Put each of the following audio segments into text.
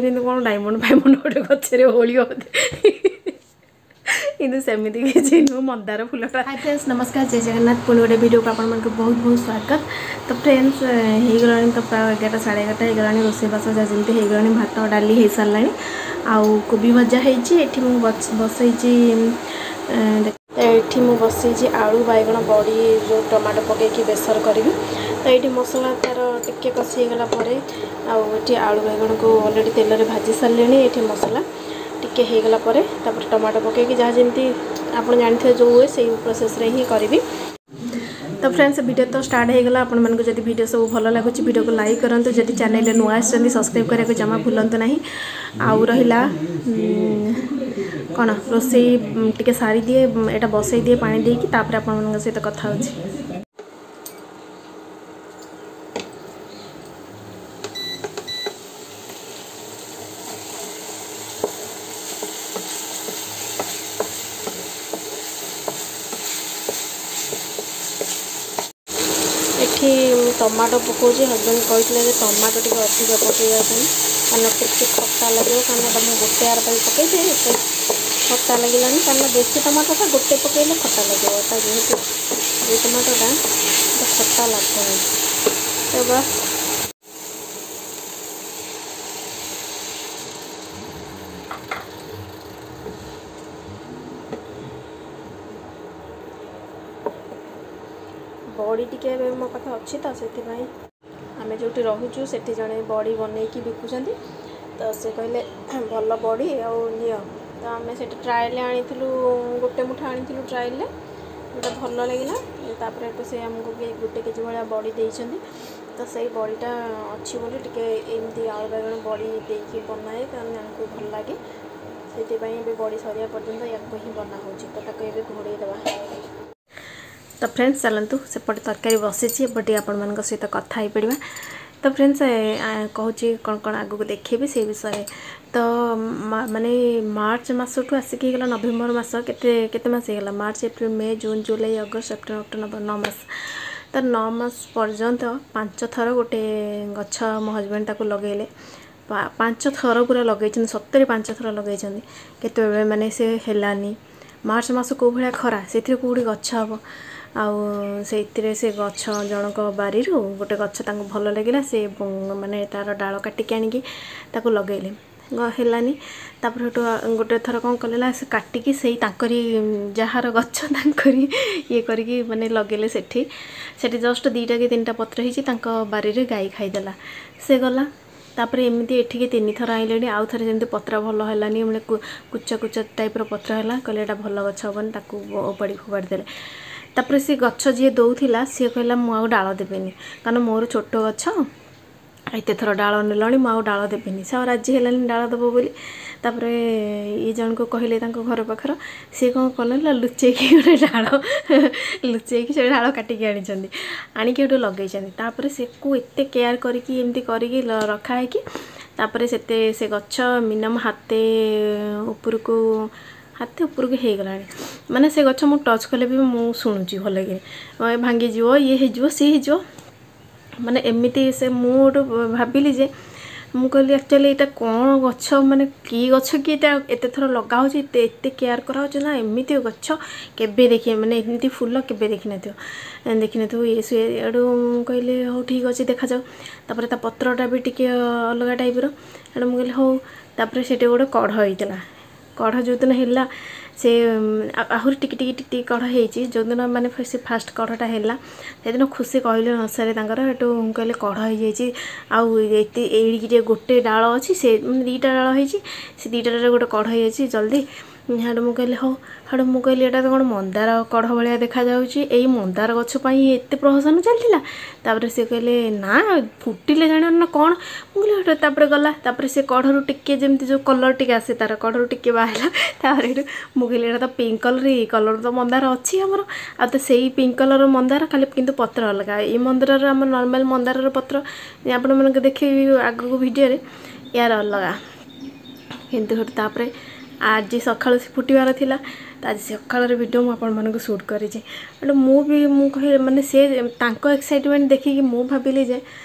ଯେମିତି କ'ଣ ଡାଇମଣ୍ଡ ଫାଇମଣ୍ଡ ଗୋଟେ ଗଛରେ ଓହଳିବ ବୋଧେ, କିନ୍ତୁ ସେମିତି କିଛି ନୁହଁ, ମନ୍ଦାର ଫୁଲଟା। ହାଇ ଫ୍ରେଣ୍ଡସ୍, ନମସ୍କାର, ଜୟ ଜଗନ୍ନାଥ। ପୁଣି ଗୋଟେ ଭିଡ଼ିଓକୁ ଆପଣମାନଙ୍କୁ ବହୁତ ବହୁତ ସ୍ୱାଗତ। ତ ଫ୍ରେଣ୍ଡସ୍, ହେଇଗଲାଣି ତ ପ୍ରାୟ 11, 11:30 ହେଇଗଲାଣି। ରୋଷେଇବାସ ଯାହା ଯେମିତି ହେଇଗଲାଣି, ଭାତ ଡାଲି ହେଇସାରିଲାଣି ଆଉ କୋବି ଭଜା ହେଇଛି। ଏଠି ମୁଁ ବସେଇଛି, ଏଠି ମୁଁ ବସେଇଛି ଆଳୁ, ବାଇଗଣ, ବଡ଼ି, ଯେଉଁ ଟମାଟୋ ପକାଇକି ବେସର କରିବି। ତ ଏଇଠି ମସଲା ତା'ର ଟିକେ କଷି ହେଇଗଲା ପରେ, ଆଉ ଏଠି ଆଳୁ ବାଇଗଣକୁ ଅଲରେଡ଼ି ତେଲରେ ଭାଜି ସାରିଲିଣି। ଏଠି ମସଲା ଟିକେ ହେଇଗଲା ପରେ ତାପରେ ଟମାଟୋ ପକାଇକି ଯାହା ଯେମିତି ଆପଣ ଜାଣିଥିବେ ଯେଉଁ ହୁଏ, ସେଇ ପ୍ରୋସେସ୍ରେ ହିଁ କରିବି। ତ ଫ୍ରେଣ୍ଡସ୍, ଭିଡ଼ିଓ ତ ଷ୍ଟାର୍ଟ ହେଇଗଲା। ଆପଣମାନଙ୍କୁ ଯଦି ଭିଡ଼ିଓ ସବୁ ଭଲ ଲାଗୁଛି, ଭିଡ଼ିଓକୁ ଲାଇକ୍ କରନ୍ତୁ। ଯଦି ଚ୍ୟାନେଲରେ ନୂଆ ଆସିଛନ୍ତି, ସବସ୍କ୍ରାଇବ୍ କରିବାକୁ ଜମା ଭୁଲନ୍ତୁ ନାହିଁ। ଆଉ ରହିଲା କ'ଣ, ରୋଷେଇ ଟିକେ ସାରିଦିଏ, ଏଇଟା ବସେଇ ଦିଏ ପାଣି ଦେଇକି, ତାପରେ ଆପଣମାନଙ୍କ ସହିତ କଥା ହେଉଛି। ଏଠି ମୁଁ ଟମାଟୋ ପକାଉଛି। ହଜବେଣ୍ଡ କହିଥିଲେ ଯେ ଟମାଟୋ ଟିକେ ଅଧିକ ପକାଇବା ପାଇଁ, କାରଣ ଟିକେ ଖଟା ଲାଗିବ। କାରଣ ଏଇଟା ମୁଁ ଗୋଟେ ଆର ପାଇଁ ପକାଇଛି, ଏତେ ଖଟା ଲାଗିଲାନି। କାରଣ ବେଶୀ ଟମାଟୋଟା ଗୋଟେ ପକାଇଲେ ଖଟା ଲାଗିବ। ଏଟା ଯେହେତୁ ଏଇ ଟମାଟୋଟା ଖଟା ଲାଗୁନି। ତ ବାସ୍, ବଡ଼ି ଟିକେ ଏବେ ମୋ ପାଖେ ଅଛି, ତ ସେଥିପାଇଁ ଆମେ ଯେଉଁଠି ରହୁଛୁ ସେଠି ଜଣେ ବଡ଼ି ବନେଇକି ବିକୁଛନ୍ତି। ତ ସେ କହିଲେ ଭଲ ବଡ଼ି ଆଉ ନିଅ। ତ ଆମେ ସେଠି ଟ୍ରାଏଲ୍ରେ ଆଣିଥିଲୁ, ଗୋଟେ ମୁଠା ଆଣିଥିଲୁ ଟ୍ରାଏଲ୍ରେ, ଯେଉଁଟା ଭଲ ଲାଗିଲା। ତାପରେ ଏଠୁ ସେ ଆମକୁ ବି 1 କେଜି ଭଳିଆ ବଡ଼ି ଦେଇଛନ୍ତି। ତ ସେଇ ବଡ଼ିଟା ଅଛି ବୋଲି ଟିକେ ଏମିତି ଆଳୁ ବାଇଗଣ ବଡ଼ି ଦେଇକି ବନାଏ, କାରଣ ଆମକୁ ଭଲ ଲାଗେ। ସେଥିପାଇଁ ଏବେ ବଡ଼ି ସରିବା ପର୍ଯ୍ୟନ୍ତ ୟାକୁ ହିଁ ବନା ହେଉଛି। ତ ତାକୁ ଏବେ ଘୋଡ଼େଇ ଦେବା। ତ ଫ୍ରେଣ୍ଡସ୍, ଚାଲନ୍ତୁ, ସେପଟେ ତରକାରୀ ବସିଛି, ଏପଟେ ଆପଣମାନଙ୍କ ସହିତ କଥା ହେଇପଡ଼ିବା। ତ ଫ୍ରେଣ୍ଡସ୍, କହୁଛି କ'ଣ କ'ଣ ଆଗକୁ ଦେଖେଇବି ସେଇ ବିଷୟରେ। ତ ମାନେ ମାର୍ଚ୍ଚ ମାସଠୁ ଆସିକି ହେଇଗଲା ନଭେମ୍ବର ମାସ, କେତେ କେତେ ମାସ ହେଇଗଲା? March, April, May, June, July, August, September, October, November, 9 ମାସ। ତ 9 ମାସ ପର୍ଯ୍ୟନ୍ତ 5 ଥର ଗୋଟେ ଗଛ ମୋ ହଜବେଣ୍ଡ ତାକୁ ଲଗେଇଲେ। 5 ଥର ପୁରା ଲଗେଇଛନ୍ତି, ସତରେ 5 ଥର ଲଗେଇଛନ୍ତି। କେତେବେଳେ ମାନେ ସେ ହେଲାନି। ମାର୍ଚ୍ଚ ମାସ କେଉଁ ଭଳିଆ ଖରା, ସେଥିରେ କେଉଁଠି ଗଛ ହେବ? ଆଉ ସେଇଥିରେ ସେ ଗଛ ଜଣଙ୍କ ବାରିରୁ ଗୋଟେ ଗଛ ତାଙ୍କୁ ଭଲ ଲାଗିଲା, ସେ ମାନେ ତା'ର ଡାଳ କାଟିକି ଆଣିକି ତାକୁ ଲଗେଇଲେ, ହେଲାନି। ତାପରେ ସେଠୁ ଗୋଟେ ଥର କ'ଣ କଲେ ନା, ସେ କାଟିକି ସେଇ ତାଙ୍କରି ଯାହାର ଗଛ ତାଙ୍କରି ଇଏ କରିକି ମାନେ ଲଗେଇଲେ ସେଠି। ସେଠି ଜଷ୍ଟ 2ଟା କି 3ଟା ପତ୍ର ହେଇଛି, ତାଙ୍କ ବାରିରେ ଗାଈ ଖାଇଦେଲା, ସେ ଗଲା। ତାପରେ ଏମିତି ଏଠିକି 3 ଥର ଆଣିଲେଣି। ଆଉ ଥରେ ଯେମିତି ପତ୍ର ଭଲ ହେଲାନି, ମାନେ କୁଚା କୁଚା ଟାଇପ୍ର ପତ୍ର ହେଲା, କହିଲେ ଏଇଟା ଭଲ ଗଛ ହେବନି, ତାକୁ ଓପାଡ଼ି ଫୋପାଡ଼ି ଦେଲେ। ତାପରେ ସେ ଗଛ ଯିଏ ଦେଉଥିଲା ସିଏ କହିଲା ମୁଁ ଆଉ ଡାଳ ଦେବିନି, କାରଣ ମୋର ଛୋଟ ଗଛ, ଏତେ ଥର ଡାଳ ନେଲଣି, ମୁଁ ଆଉ ଡାଳ ଦେବିନି। ସେ ଆଉ ରାଜି ହେଲାନି ଡାଳ ଦେବ ବୋଲି। ତାପରେ ଇଏ ଜଣକୁ କହିଲେ ତାଙ୍କ ଘର ପାଖର, ସିଏ କ'ଣ କଲେ ନା ଲୁଚେଇକି ଗୋଟେ ଡାଳ ଲୁଚେଇକି ସେ ଡାଳ କାଟିକି ଆଣିଛନ୍ତି, ଆଣିକି ଏଠୁ ଲଗେଇଛନ୍ତି। ତାପରେ ସେକୁ ଏତେ କେୟାର କରିକି ଏମିତି କରିକି ରଖା ହେଇକି, ତାପରେ ସେତେ ସେ ଗଛ ମିନିମମ୍ ହାତେ ଉପରକୁ, ହାତେ ଉପରକୁ ହେଇଗଲାଣି। ମାନେ ସେ ଗଛ ମୁଁ ଟଚ୍ କଲେ ବି ମୁଁ ଶୁଣୁଛି ଭଲକି, ଭାଙ୍ଗିଯିବ, ଇଏ ହେଇଯିବ, ସିଏ ହେଇଯିବ, ମାନେ ଏମିତି ସେ। ମୁଁ ଗୋଟେ ଭାବିଲି ଯେ, ମୁଁ କହିଲି ଆକ୍ଚୁଆଲି ଏଇଟା କ'ଣ ଗଛ, ମାନେ କି ଗଛ କି ଏଇଟା ଏତେ ଥର ଲଗା ହେଉଛି, ଏତେ ଏତେ କେୟାର କରାହେଉଛି ନା? ଏମିତି ଗଛ କେବେ ଦେଖି, ମାନେ ଏମିତି ଫୁଲ କେବେ ଦେଖିନଥିବ, ଦେଖିନଥିବ ଇଏ ସିଏ। ଏଡ଼ୁ ମୁଁ କହିଲି ହଉ ଠିକ୍ ଅଛି, ଦେଖାଯାଉ। ତାପରେ ତା ପତ୍ରଟା ବି ଟିକେ ଅଲଗା ଟାଇପ୍ର। ଏଣୁ ମୁଁ କହିଲି ହଉ। ତାପରେ ସେଠି ଗୋଟେ କଢ଼ ହେଇଥିଲା। କଢ଼ ଯେଉଁଦିନ ହେଲା, ସେ ଆହୁରି ଟିକେ ଟିକେ ଟିକେ ଟିକେ କଢ଼ ହେଇଛି। ଯେଉଁଦିନ ମାନେ ସେ ଫାଷ୍ଟ କଢ଼ଟା ହେଲା, ସେଦିନ ଖୁସି କହିଲେ ନ ସରେ ତାଙ୍କର। ସେଠୁ କହିଲେ କଢ଼ ହେଇଯାଇଛି ଆଉ ଏତେ ଏଇଠିକି ଟିକେ ଗୋଟେ ଡାଳ ଅଛି, ସେ ମାନେ 2ଟା ଡାଳ ହେଇଛି, ସେ 2ଟା ଡାଳରେ ଗୋଟେ କଢ଼ ହେଇଯାଇଛି ଜଲ୍ଦି। ସେଠୁ ମୁଁ କହିଲି ହଉ। ସେଠୁ ମୁଁ କହିଲି ଏଇଟା ତ କ'ଣ ମନ୍ଦାର କଢ଼ ଭଳିଆ ଦେଖାଯାଉଛି, ଏଇ ମନ୍ଦାର ଗଛ ପାଇଁ ଏତେ ପ୍ରହସନ ଚାଲିଥିଲା? ତାପରେ ସେ କହିଲେ ନା, ଫୁଟିଲେ ଜାଣିବ ନା କ'ଣ। ମୁଁ କହିଲି ସେଠୁ ତାପରେ ଗଲା। ତାପରେ ସେ କଢ଼ରୁ ଟିକେ ଯେମିତି ଯେଉଁ କଲର୍ ଟିକେ ଆସେ, ତାର କଢ଼ରୁ ଟିକେ ବାହାରିଲା। ତାପରେ ଏଠୁ ମୁଁ କହିଲି ଏଇଟା ତ ପିଙ୍କ କଲର୍, ଏଇ କଲର୍ ତ ମନ୍ଦାର ଅଛି ଆମର, ଆଉ ତ ସେଇ ପିଙ୍କ କଲର୍ ମନ୍ଦାର ଖାଲି, କିନ୍ତୁ ପତ୍ର ଅଲଗା। ଏଇ ମନ୍ଦାରର, ଆମ ନର୍ମାଲ୍ ମନ୍ଦାରର ପତ୍ର ଆପଣମାନଙ୍କୁ ଦେଖିବି ଆଗକୁ ଭିଡ଼ିଓରେ, ୟାର ଅଲଗା। କିନ୍ତୁ ସେଠୁ ତାପରେ ଆଜି ସକାଳୁ ସେ ଫୁଟିବାର ଥିଲା, ତ ଆଜି ସକାଳର ଭିଡ଼ିଓ ମୁଁ ଆପଣମାନଙ୍କୁ ସୁଟ୍ କରିଛି। ଏଠୁ ମୁଁ ବି ମୁଁ କହି ମାନେ ସେ ତାଙ୍କ ଏକ୍ସାଇଟମେଣ୍ଟ ଦେଖିକି ମୁଁ ଭାବିଲି ଯେ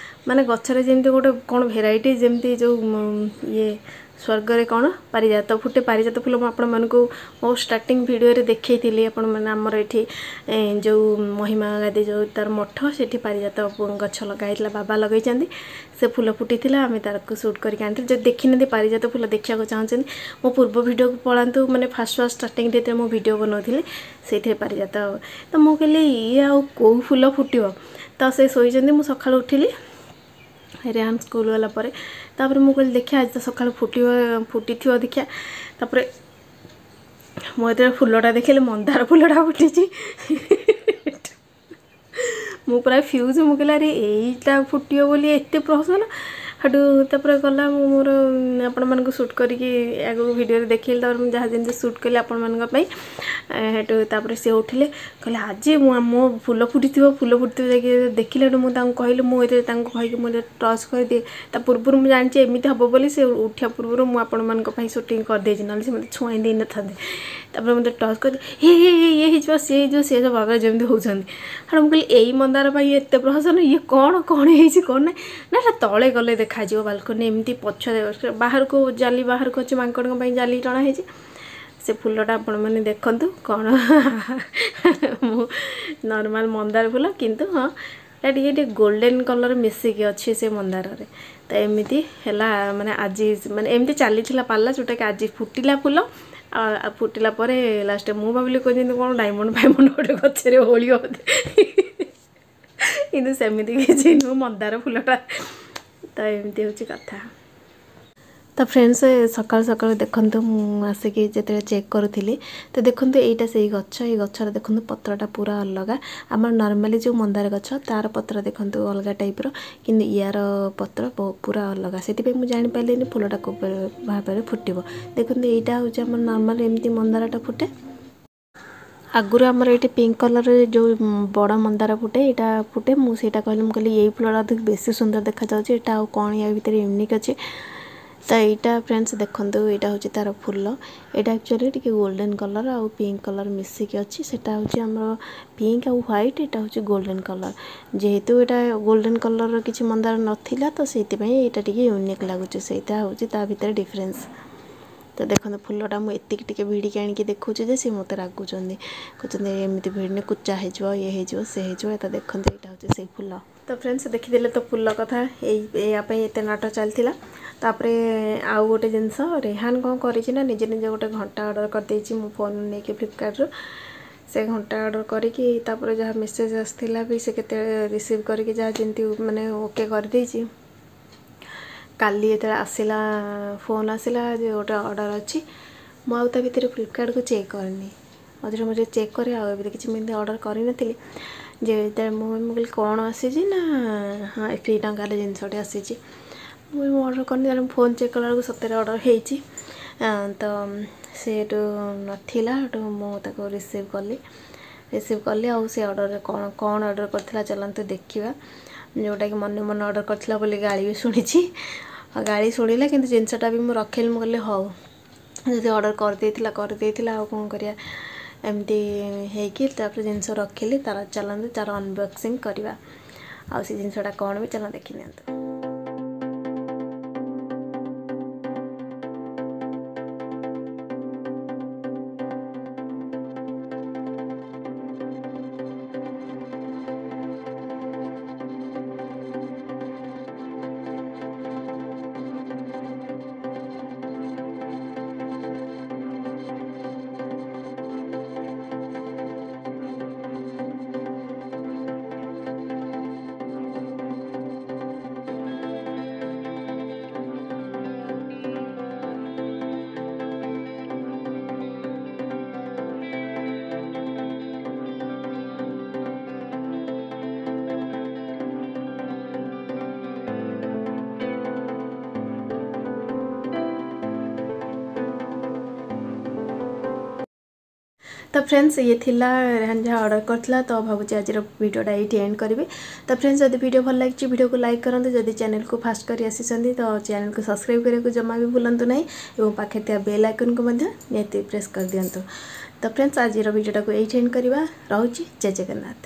ମାନେ ଗଛରେ ଯେମିତି ଗୋଟେ କ'ଣ ଭେରାଇଟି, ଯେମିତି ଯେଉଁ ଇଏ ସ୍ୱର୍ଗରେ କ'ଣ ପାରିଜାତ ଫୁଟେ, ପାରିଜାତ ଫୁଲ ମୁଁ ଆପଣମାନଙ୍କୁ ମୋ ଷ୍ଟାର୍ଟିଂ ଭିଡ଼ିଓରେ ଦେଖେଇଥିଲି। ଆପଣମାନେ ଆମର ଏଠି ଯେଉଁ ମହିମା ଗାଦି ଯେଉଁ ତାର ମଠ, ସେଠି ପାରିଜାତ ଗଛ ଲଗା ହେଇଥିଲା, ବାବା ଲଗେଇଛନ୍ତି, ସେ ଫୁଲ ଫୁଟିଥିଲା, ଆମେ ତାକୁ ସୁଟ୍ କରିକି ଆଣିଥିଲୁ। ଯଦି ଦେଖିନାହାନ୍ତି ପାରିଜାତ ଫୁଲ ଦେଖିବାକୁ ଚାହୁଁଛନ୍ତି, ମୋ ପୂର୍ବ ଭିଡ଼ିଓକୁ ପଳାନ୍ତୁ। ମାନେ ଫାଷ୍ଟ ଫାଷ୍ଟ ଷ୍ଟାର୍ଟିଂରେ ଯେତେବେଳେ ମୁଁ ଭିଡ଼ିଓ ବନାଉଥିଲି, ସେଇଥିରେ ପାରିଜାତ। ତ ମୁଁ କହିଲି ଇଏ ଆଉ କେଉଁ ଫୁଲ ଫୁଟିବ? ତ ସେ ଶୋଇଛନ୍ତି, ମୁଁ ସକାଳୁ ଉଠିଲି ରେହାନ ସ୍କୁଲ ଗଲା ପରେ। ତାପରେ ମୁଁ କହିଲି ଦେଖିବା, ଆଜି ତ ସକାଳୁ ଫୁଟିବ, ଫୁଟିଥିବ, ଦେଖିବା। ତାପରେ ମୁଁ ଯେତେବେଳେ ଫୁଲଟା ଦେଖିଲି, ମନ୍ଦାର ଫୁଲଟା ଫୁଟିଛି, ମୁଁ ପୁରା ଫ୍ୟୁଜ୍। ମୁଁ କହିଲି ଆରେ ଏଇଟା ଫୁଟିବ ବୋଲି ଏତେ ପ୍ରହସନ? ସେଠୁ ତାପରେ ଗଲା, ମୁଁ ମୋର ଆପଣମାନଙ୍କୁ ସୁଟ୍ କରିକି ଆଗକୁ ଭିଡ଼ିଓରେ ଦେଖେଇଲି। ତାପରେ ମୁଁ ଯାହା ଯେମିତି ସୁଟ୍ କଲି ଆପଣମାନଙ୍କ ପାଇଁ। ସେଠୁ ତାପରେ ସେ ଉଠିଲେ, କହିଲେ ଆଜି ମୁଁ ମୋ ଫୁଲ ଫୁଟିଥିବ, ଫୁଲ ଫୁଟିଥିବ। ଯାଇକି ଦେଖିଲେ, ସେଠୁ ମୁଁ ତାଙ୍କୁ କହିଲି, ମୁଁ ଏଥିରେ ତାଙ୍କୁ କହିକି ମୁଁ ଟଚ୍ କରିଦିଏ। ତା ପୂର୍ବରୁ ମୁଁ ଜାଣିଛି ଏମିତି ହେବ ବୋଲି, ସେ ଉଠିବା ପୂର୍ବରୁ ମୁଁ ଆପଣମାନଙ୍କ ପାଇଁ ସୁଟିଂ କରିଦେଇଛି, ନହେଲେ ସେ ମୋତେ ଛୁଆଇଁ ଦେଇନଥାନ୍ତେ। ତାପରେ ମୋତେ ଟଚ୍ କରି ହେ ହେ ଇଏ ହେଇଯିବ, ସିଏ ହେଇଯିବ, ସିଏ ସବୁ ଭାବରେ ଯେମିତି ହେଉଛନ୍ତି। ସେଠୁ ମୁଁ କହିଲି ଏଇ ମନ୍ଦାର ପାଇଁ ଏତେ ପ୍ରହସନ, ଇଏ କ'ଣ କ'ଣ ହେଇଛି କ'ଣ ନାହିଁ? ନା ଏଟା ତଳେ ଗଲେ ଦେଖାଯିବ, ବାଲକୋନି ଏମିତି ପଛ ବାହାରକୁ ଜାଲି ବାହାରକୁ ଅଛି, ମାଙ୍କଡ଼ଙ୍କ ପାଇଁ ଜାଲି ଟଣା ହେଇଛି। ସେ ଫୁଲଟା ଆପଣମାନେ ଦେଖନ୍ତୁ କ'ଣ, ମୁଁ ନର୍ମାଲ୍ ମନ୍ଦାର ଫୁଲ, କିନ୍ତୁ ହଁ ଏଟା ଟିକେ ଟିକେ ଗୋଲ୍ଡେନ୍ କଲର୍ ମିଶିକି ଅଛି ସେ ମନ୍ଦାରରେ। ତ ଏମିତି ହେଲା, ମାନେ ଆଜି ମାନେ ଏମିତି ଚାଲିଥିଲା ପାଲା, ଯେଉଁଟାକି ଆଜି ଫୁଟିଲା ଫୁଲ। ଆଉ ଫୁଟିଲା ପରେ ଲାଷ୍ଟ ମୁଁ ଭାବିଲି କହୁଛନ୍ତି କ'ଣ ଡାଇମଣ୍ଡ ଫାଇମଣ୍ଡ ଗୋଟେ ଗଛରେ ଓଳିବ ବୋଧେ, କିନ୍ତୁ ସେମିତି କିଛି ନୁହଁ, ମନ୍ଦାର ଫୁଲଟା। ତ ଏମିତି ହେଉଛି କଥା। ତ ଫ୍ରେଣ୍ଡସ୍, ସକାଳୁ ସକାଳୁ ଦେଖନ୍ତୁ, ମୁଁ ଆସିକି ଯେତେବେଳେ ଚେକ୍ କରୁଥିଲି, ତ ଦେଖନ୍ତୁ ଏଇଟା ସେଇ ଗଛ। ଏଇ ଗଛର ଦେଖନ୍ତୁ ପତ୍ରଟା ପୁରା ଅଲଗା। ଆମର ନର୍ମାଲି ଯେଉଁ ମନ୍ଦାର ଗଛ ତାର ପତ୍ର ଦେଖନ୍ତୁ ଅଲଗା ଟାଇପ୍ର, କିନ୍ତୁ ୟାର ପତ୍ର ପୁରା ଅଲଗା। ସେଥିପାଇଁ ମୁଁ ଜାଣିପାରିଲିନି ଫୁଲଟା କେଉଁ ଭାବରେ ଫୁଟିବ। ଦେଖନ୍ତୁ, ଏଇଟା ହେଉଛି ଆମର ନର୍ମାଲ ଏମିତି ମନ୍ଦାରଟା ଫୁଟେ। ଆଗରୁ ଆମର ଏଇଠି ପିଙ୍କ କଲର୍ରେ ଯେଉଁ ବଡ଼ ମନ୍ଦାର ଫୁଟେ, ଏଇଟା ଫୁଟେ। ମୁଁ ସେଇଟା କହିଲି, ମୁଁ କହିଲି ଏଇ ଫୁଲଟା ବେଶୀ ସୁନ୍ଦର ଦେଖାଯାଉଛି, ଏଇଟା ଆଉ କ'ଣ ୟା ଭିତରେ ୟୁନିକ୍ ଅଛି? ତ ଏଇଟା ଫ୍ରେଣ୍ଡସ୍ ଦେଖନ୍ତୁ, ଏଇଟା ହେଉଛି ତା'ର ଫୁଲ। ଏଇଟା ଆକ୍ଚୁଆଲି ଟିକେ ଗୋଲ୍ଡେନ୍ କଲର୍ ଆଉ ପିଙ୍କ କଲର୍ ମିଶିକି ଅଛି। ସେଟା ହେଉଛି ଆମର ପିଙ୍କ ଆଉ ହ୍ୱାଇଟ୍, ଏଇଟା ହେଉଛି ଗୋଲ୍ଡେନ୍ କଲର୍। ଯେହେତୁ ଏଇଟା ଗୋଲ୍ଡେନ୍ କଲର୍ର କିଛି ମନ୍ଦାର ନଥିଲା, ତ ସେଇଥିପାଇଁ ଏଇଟା ଟିକେ ୟୁନିକ୍ ଲାଗୁଛି। ସେଇଟା ହେଉଛି ତା ଭିତରେ ଡିଫରେନ୍ସ। ତ ଦେଖନ୍ତୁ ଫୁଲଟା ମୁଁ ଏତିକି ଟିକେ ଭିଡ଼ିକି ଆଣିକି ଦେଖାଉଛି ଯେ ସେ ମୋତେ ରାଗୁଛନ୍ତି, କହୁଛନ୍ତି ଏମିତି ଭିଡ଼ିନେ କୁଚା ହେଇଯିବ, ଇଏ ହେଇଯିବ, ସେ ହେଇଯିବ। ତ ଦେଖନ୍ତୁ ଏଇଟା ହେଉଛି ସେଇ ଫୁଲ। ତ ଫ୍ରେଣ୍ଡସ୍, ଦେଖିଦେଲେ ତ ଫୁଲ କଥା, ଏଇ ଏୟା ପାଇଁ ଏତେ ନାଟ ଚାଲିଥିଲା। ତାପରେ ଆଉ ଗୋଟେ ଜିନିଷ, ରେହାନ କ'ଣ କରିଛି ନା ନିଜେ ନିଜେ ଗୋଟେ ଘଣ୍ଟା ଅର୍ଡ଼ର କରିଦେଇଛି ମୁଁ ଫୋନ୍ ନେଇକି ଫ୍ଲିପକାର୍ଟରୁ। ସେ ଘଣ୍ଟା ଅର୍ଡ଼ର କରିକି ତାପରେ ଯାହା ମେସେଜ୍ ଆସିଥିଲା ବି ସେ କେତେବେଳେ ରିସିଭ୍ କରିକି ଯାହା ଯେମିତି ମାନେ ଓକେ କରିଦେଇଛି। କାଲି ଯେତେବେଳେ ଆସିଲା, ଫୋନ୍ ଆସିଲା ଯେ ଗୋଟେ ଅର୍ଡ଼ର ଅଛି, ମୁଁ ଆଉ ତା ଭିତରେ ଫ୍ଲିପକାର୍ଟକୁ ଚେକ୍ କରିନି। ମଝିରେ ମଝିରେ ଚେକ୍ କରେ, ଆଉ ଏବେ କିଛି ମୁଁ ଏମିତି ଅର୍ଡ଼ର କରିନଥିଲି। ଯେ ଯେତେବେଳେ ମୁଁ କହିଲି କ'ଣ ଆସିଛି ନା, ହଁ ଫ୍ରି ଟଙ୍କାରେ ଜିନିଷଟେ ଆସିଛି। ମୁଁ ଅର୍ଡ଼ର କରିନି, ମୁଁ ଫୋନ୍ ଚେକ୍ କଲାବେଳକୁ ସତରେ ଅର୍ଡ଼ର ହେଇଛି। ତ ସେଠୁ ନଥିଲା, ସେଠୁ ମୁଁ ତାକୁ ରିସିଭ୍ କଲି, ରିସିଭ୍ କଲି। ଆଉ ସେ ଅର୍ଡ଼ରରେ କ'ଣ କ'ଣ ଅର୍ଡ଼ର କରିଥିଲା ଚାଲନ୍ତୁ ଦେଖିବା। ଯେଉଁଟାକି ମନେ ମନେ ଅର୍ଡ଼ର କରିଥିଲା ବୋଲି ଗାଳି ବି ଶୁଣିଛି। ଆଉ ଗାଳି ଶୁଣିଲା, କିନ୍ତୁ ଜିନିଷଟା ବି ମୁଁ ରଖିଲି। ମୁଁ କହିଲି ହଉ, ଯଦି ଅର୍ଡ଼ର କରିଦେଇଥିଲା କରିଦେଇଥିଲା, ଆଉ କ'ଣ କରିବା? ଏମିତି ହେଇକି ତାପରେ ଜିନିଷ ରଖିଲି ତାର। ଚାଲନ୍ତୁ ତାର ଅନବକ୍ସିଂ କରିବା, ଆଉ ସେ ଜିନିଷଟା କ'ଣ ବି ଚାଲ ଦେଖିନିଅନ୍ତୁ। ତ ଫ୍ରେଣ୍ଡସ୍, ଇଏ ଥିଲା ରେହାନ ଯାହା ଅର୍ଡ଼ର କରିଥିଲା। ତ ଭାବୁଛି ଆଜିର ଭିଡ଼ିଓଟା ଏଇଠି ଏଣ୍ଡ କରିବି। ତ ଫ୍ରେଣ୍ଡସ୍, ଯଦି ଭିଡ଼ିଓ ଭଲ ଲାଗିଛି ଭିଡ଼ିଓକୁ ଲାଇକ୍ କରନ୍ତୁ। ଯଦି ଚ୍ୟାନେଲକୁ ଫାଷ୍ଟ କରି ଆସିଛନ୍ତି ତ ଚ୍ୟାନେଲକୁ ସବସ୍କ୍ରାଇବ୍ କରିବାକୁ ଜମା ବି ଭୁଲନ୍ତୁ ନାହିଁ, ଏବଂ ପାଖରେ ଥିବା ବେଲ୍ ଆଇକନ୍କୁ ମଧ୍ୟ ନିହାତି ପ୍ରେସ୍ କରିଦିଅନ୍ତୁ। ତ ଫ୍ରେଣ୍ଡସ୍, ଆଜିର ଭିଡ଼ିଓଟାକୁ ଏଇଠି ଏଣ୍ଡ କରିବା। ରହୁଛି, ଜୟ ଜଗନ୍ନାଥ।